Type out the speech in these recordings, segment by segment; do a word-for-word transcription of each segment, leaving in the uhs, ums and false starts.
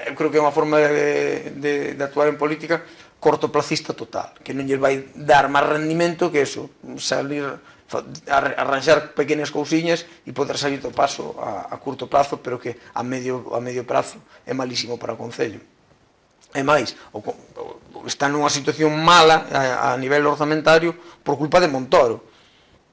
eu creo que é unha forma de, de, de actuar en política cortoplacista total, que non lle vai dar máis rendimento que eso, salir arranxar pequenas cousiñas e poder salir do paso a, a curto plazo, pero que a medio, a medio prazo é malísimo para o Concello. E máis, o, o, está nunha situación mala a, a nivel orzamentario por culpa de Montoro.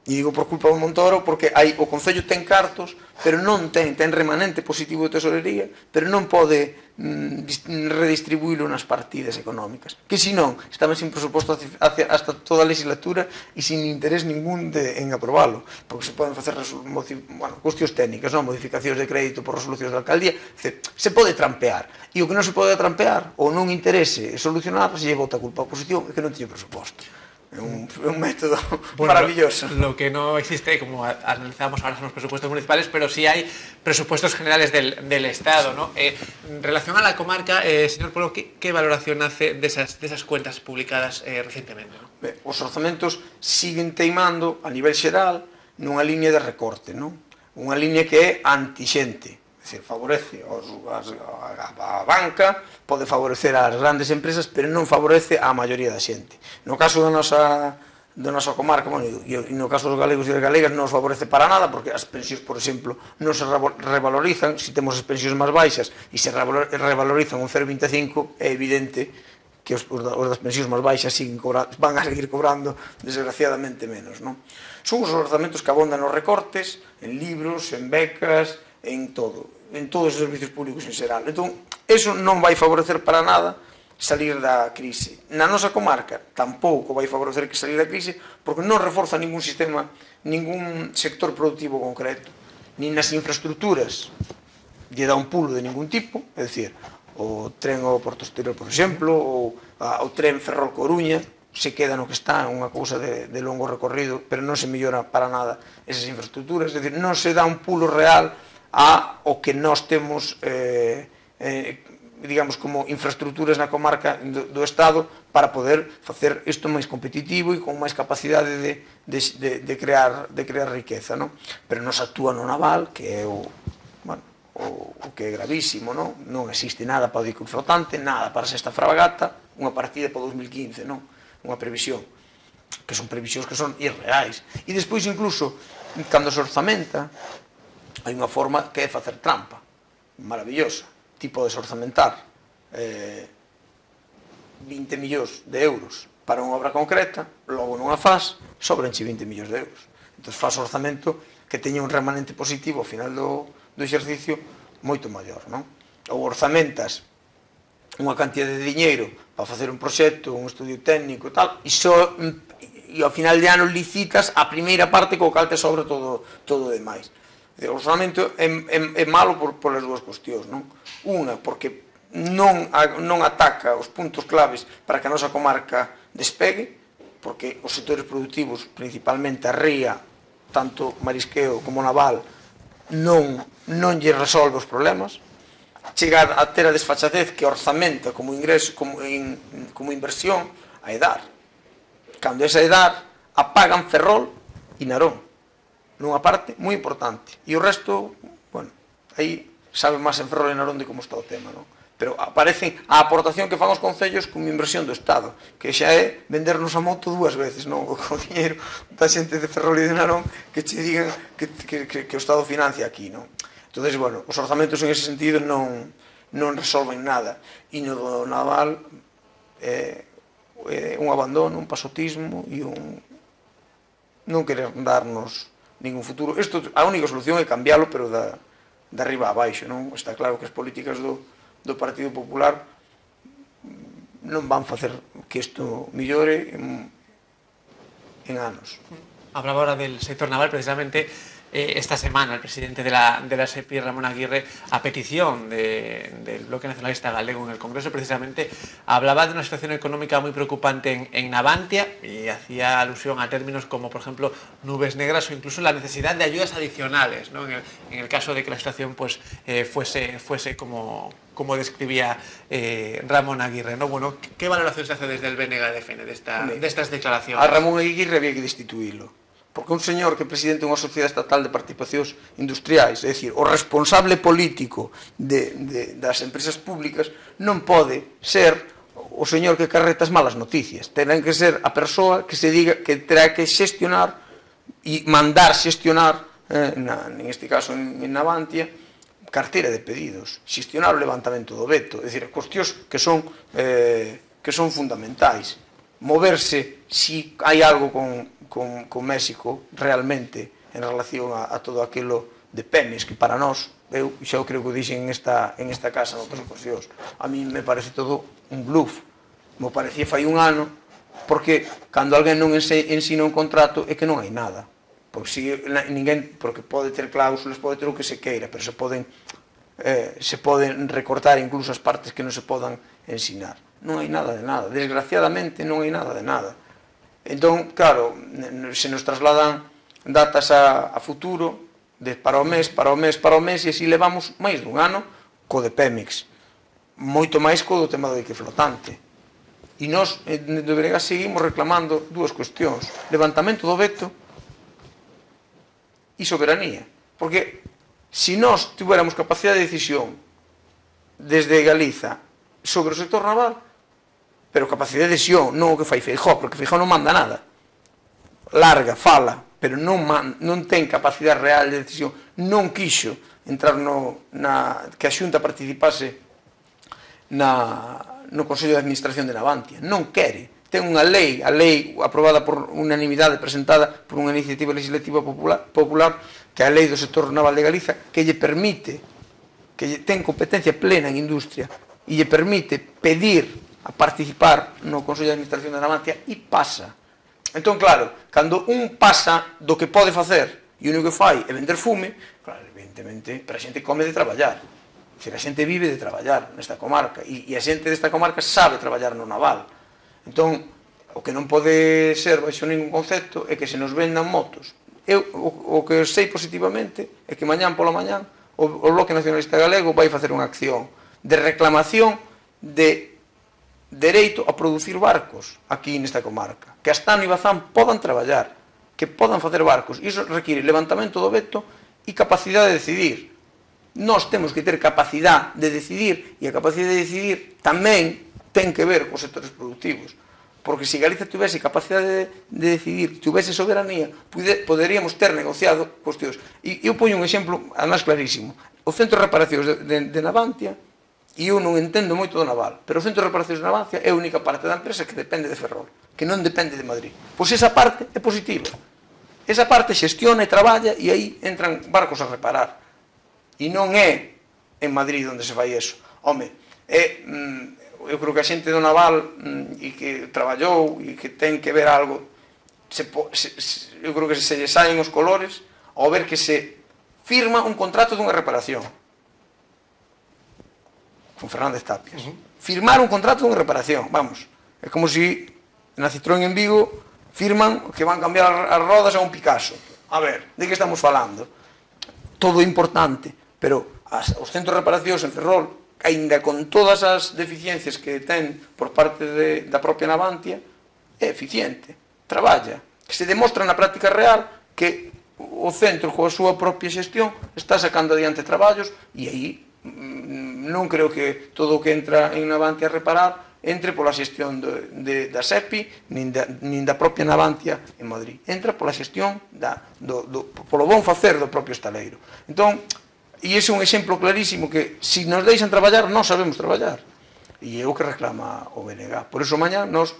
E digo por culpa de Montoro porque hai, o Concello ten cartos, pero non ten, ten remanente positivo de tesorería, pero non pode mm, redistribuílo nas partidas económicas. Que senón, estaba sin presuposto hacia, hasta toda a legislatura e sin interés ningún de, en aprobalo, porque se poden facer bueno, cuestións técnicas, non? Modificacións de crédito por resolucións da alcaldía, se pode trampear. E o que non se pode trampear, ou non interese solucionar, se lle bota a culpa a oposición, é que non teño presuposto. É un, un método bueno, maravilloso. Lo que no existe, como analizamos ahora, son los presupuestos municipales, pero sí hay presupuestos generales del, del Estado, ¿no? Eh, en relación a la comarca, eh, señor Polo, ¿qué, ¿qué valoración hace de esas, de esas cuentas publicadas eh, recientemente? ¿No? Be, os orzamentos siguen teimando a nivel xeral nunha línea de recorte, non? Unha línea que é antixente. Se favorece os, as, a, a banca, pode favorecer as grandes empresas, pero non favorece a maioría da xente. No caso da nosa, da nosa comarca, bueno, e no caso dos galegos e das galegas non os favorece para nada, porque as pensións, por exemplo, non se revalorizan. Se temos as pensións máis baixas e se revalorizan un cero vinte e cinco, é evidente que os, os das pensións máis baixas siguen cobrando, van a seguir cobrando desgraciadamente menos, non? Son os orzamentos que abondan nos recortes, en libros, en becas, en todo, en todos os servicios públicos en xeral. Entón, eso non vai favorecer para nada salir da crise. Na nosa comarca tampouco vai favorecer que salir da crise, porque non reforza ningún sistema, ningún sector productivo concreto, nin nas infraestructuras lle dá un pulo de ningún tipo, é dicir, o tren ao Porto Exterior, por exemplo, ou a, o tren Ferrol-Coruña, se queda no que está, unha cousa de, de longo recorrido, pero non se mellora para nada esas infraestructuras, é dicir, non se dá un pulo real a o que nós temos eh, eh, digamos como infraestructuras na comarca do, do Estado para poder facer isto máis competitivo e con máis capacidade de, de, de, de, crear, de crear riqueza, non? Pero non se actúa no naval, que é o, bueno, o, o que é gravísimo, non? Non existe nada para o dique flotante, nada para a sexta fragata, unha partida para o dos mil quince, non? Unha previsión, que son previsións que son irreais. E despois incluso, cando se orzamenta, hai unha forma que é facer trampa, maravillosa, tipo de orzamentar eh, vinte millóns de euros para unha obra concreta, logo non a faz, sobranche vinte millóns de euros. Entón faz orzamento que teña un remanente positivo ao final do, do exercicio moito maior, non? Ou orzamentas unha cantidad de diñeiro para facer un proxecto, un estudio técnico e tal, e, so, e ao final de ano licitas a primeira parte co cal te sobra todo, todo o demais. O orzamento é, é, é malo por, por as dúas cuestións, non? Unha, porque non, non ataca os puntos claves para que a nosa comarca despegue, porque os sectores productivos, principalmente a ría, tanto marisqueo como naval, non, non lle resolve os problemas. Chegar a ter a desfachatez que orzamenta como ingreso, como, in, como inversión, a Edar. Cando esa Edar apagan Ferrol e Narón, nunha parte moi importante, e o resto, bueno, aí sabe máis en Ferrol e Narón de como está o tema, non? Pero aparecen a aportación que fan os concellos como inversión do Estado, que xa é vendernos a moto dúas veces, non? O diñeiro da xente de Ferrol e de Narón que che digan que, que, que, que o Estado financia aquí, non? Entón, bueno, os orzamentos en ese sentido non, non resolven nada, e no do naval é, é un abandono, un pasotismo e un non querer darnos ningún futuro. Isto, a única solución é cambiálo, pero da, de arriba a baixo, non? Está claro que as políticas do, do Partido Popular non van facer que isto millore en, en anos. Hablaba ahora del sector naval, precisamente eh, esta semana el presidente de la, de la SEPI, Ramón Aguirre, a petición de, del Bloque Nacionalista Galego en el Congreso, precisamente hablaba de una situación económica muy preocupante en, en Navantia y hacía alusión a términos como, por ejemplo, nubes negras o incluso la necesidad de ayudas adicionales, ¿no? en, el, en el caso de que la situación pues, eh, fuese, fuese como, como describía eh, Ramón Aguirre, ¿no? Bueno, ¿qué valoración se hace desde el B N G de F N de, esta, de estas declaraciones? A Ramón Aguirre había que destituirlo, porque un señor que é presidente dunha sociedade estatal de participacións industriais, é dicir, o responsable político de, de, das empresas públicas, non pode ser o señor que carreta as malas noticias. Terán que ser a persoa que se diga que terá que xestionar e mandar xestionar, eh, na, en este caso en, en Navantia, carteira de pedidos, xestionar o levantamento do veto, é dicir, cuestións que son, eh, que son fundamentais. Moverse, si hai algo con, con, con México realmente en relación a, a todo aquilo de Pemex, que para nós, eu xa creo que o dixen en esta, en esta casa noutras ocasións, a mí me parece todo un bluff, me parecía fai un ano, porque cando alguén non ensina un contrato é que non hai nada. Porque, si, ninguén, porque pode ter cláusulas, pode ter o que se queira, pero se poden, eh, se poden recortar incluso as partes que non se podan ensinar. Non hai nada de nada, desgraciadamente non hai nada de nada. Entón, claro, se nos trasladan datas a, a futuro, de para o mes, para o mes, para o mes, e así levamos máis dun ano co de Pemex, moito máis co do tema do dique flotante. E nós, de Veregas, seguimos reclamando dúas cuestións: levantamento do veto e soberanía. Porque se nós tiveramos capacidade de decisión desde Galiza sobre o sector naval, pero capacidade de decisión, non o que fai Feijóo, porque Feijóo non manda nada, larga, fala, pero non, man, non ten capacidade real de decisión, non quixo entrar no, na, que a Xunta participase na, no Consello de Administración de Navantia, non quere. Ten unha lei, a lei aprobada por unanimidade, presentada por unha iniciativa legislativa popular, popular, que é a lei do sector naval de Galiza, que lle permite, que lle ten competencia plena en industria, e lle permite pedir a participar no Consello de Administración de Navantia, e pasa. Entón, claro, cando un pasa do que pode facer e o único que fai é vender fume, claro, evidentemente, para a xente come de traballar. É dicir, a xente vive de traballar nesta comarca, e, e a xente desta comarca sabe traballar no naval. Entón, o que non pode ser baixo ningún concepto é que se nos vendan motos. Eu, o, o que sei positivamente é que mañán pola mañán o, o Bloque Nacionalista Galego vai facer unha acción de reclamación de dereito a producir barcos aquí nesta comarca, que Astano e Bazán podan traballar, que podan facer barcos. Iso require levantamento do veto e capacidade de decidir. Nós temos que ter capacidade de decidir, e a capacidade de decidir tamén ten que ver cos sectores productivos, porque se Galiza tivese capacidade de, de decidir, tivese soberanía, pude, poderíamos ter negociado cuestións. E eu poño un exemplo, además clarísimo: o Centro de Reparacións de, de, de Navantia, e eu non entendo moito do naval, pero o Centro de Reparacións de Navantia é a única parte da empresa que depende de Ferrol, que non depende de Madrid. Pois esa parte é positiva, esa parte xestiona e traballa, e aí entran barcos a reparar, e non é en Madrid onde se fai eso. Home, é... Mm, eu creo que a xente do naval e que traballou e que ten que ver algo, se, se, se, eu creo que se lle saen os colores ao ver que se firma un contrato dunha reparación con Fernández Tapias. Uh -huh. Firmar un contrato dunha reparación, vamos, é como se na Citroën en Vigo firman que van cambiar as rodas a un Picasso. A ver, de que estamos falando? Todo importante, pero as, os centros de reparacións en Ferrol, aínda con todas as deficiencias que ten por parte de, da propia Navantia, é eficiente, traballa, que se demostra na práctica real que o centro, coa súa propia xestión, está sacando adiante traballos, e aí non creo que todo o que entra en Navantia a reparar entre pola xestión de, de, da SEPI, nin da, nin da propia Navantia en Madrid, entra pola xestión da, do, do, polo bon facer do propio estaleiro. Entón, e ese é un exemplo clarísimo que, se nos deixan traballar, nós sabemos traballar. E é o que reclama o B N G. Por iso, mañá, nós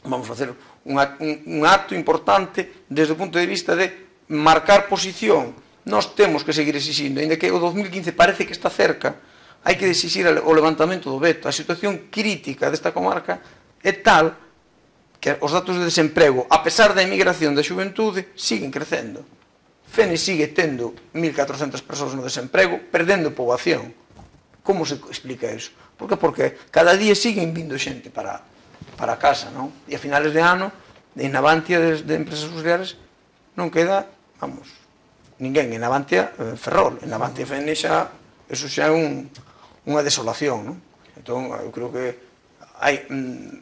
vamos facer un, un, un acto importante desde o punto de vista de marcar posición. Nós temos que seguir exixindo, ainda que o dos mil quince parece que está cerca, hai que exixir o levantamento do veto. A situación crítica desta comarca é tal que os datos de desemprego, a pesar da emigración da xuventude, siguen crecendo. Fene sigue tendo mil catrocentas persoas no desemprego, perdendo poboación. Como se explica iso? Por que? Porque cada día siguen vindo xente para, para casa, non? E a finales de ano, en Navantia de, de empresas auxiliares, non queda, vamos, ninguén. En Navantia, eh, Ferrol. En Navantia Fene xa, eso xa é un, unha desolación, non? Entón, eu creo que hai,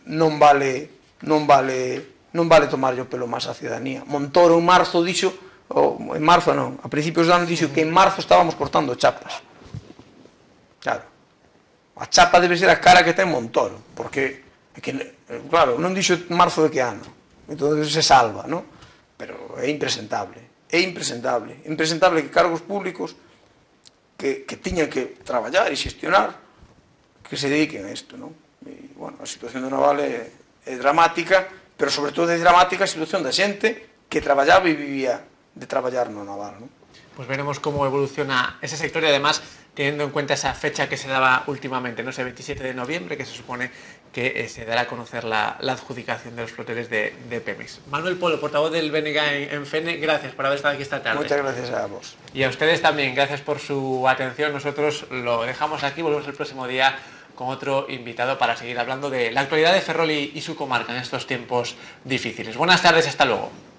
non vale, non vale non vale tomarlle o pelo máis a ciudadanía. Montoro en marzo dixo, ou en marzo non, a principios do ano dixo que en marzo estábamos cortando chapas. Claro, a chapa debe ser a cara que ten Montoro, porque, que, claro, non dixo en marzo de que ano, entón se salva, non? Pero é impresentable, é impresentable, impresentable que cargos públicos que, que tiñan que traballar e xestionar, que se dediquen a isto, non? E, bueno, a situación do naval é, é dramática, pero sobre todo é dramática a situación da xente que traballaba e vivía de traballar no naval, non? Pues veremos cómo evoluciona ese sector y además teniendo en cuenta esa fecha que se daba últimamente, ¿no? Ese veintisiete de noviembre, que se supone que eh, se dará a conocer la, la adjudicación de los floteles de, de Pemex. Manuel Polo, portavoz del B N G en, en FENE, gracias por haber estado aquí esta tarde. Muchas gracias a vos. Y a ustedes también, gracias por su atención. Nosotros lo dejamos aquí, volvemos el próximo día con otro invitado para seguir hablando de la actualidad de Ferrol y, y su comarca en estos tiempos difíciles. Buenas tardes, hasta luego.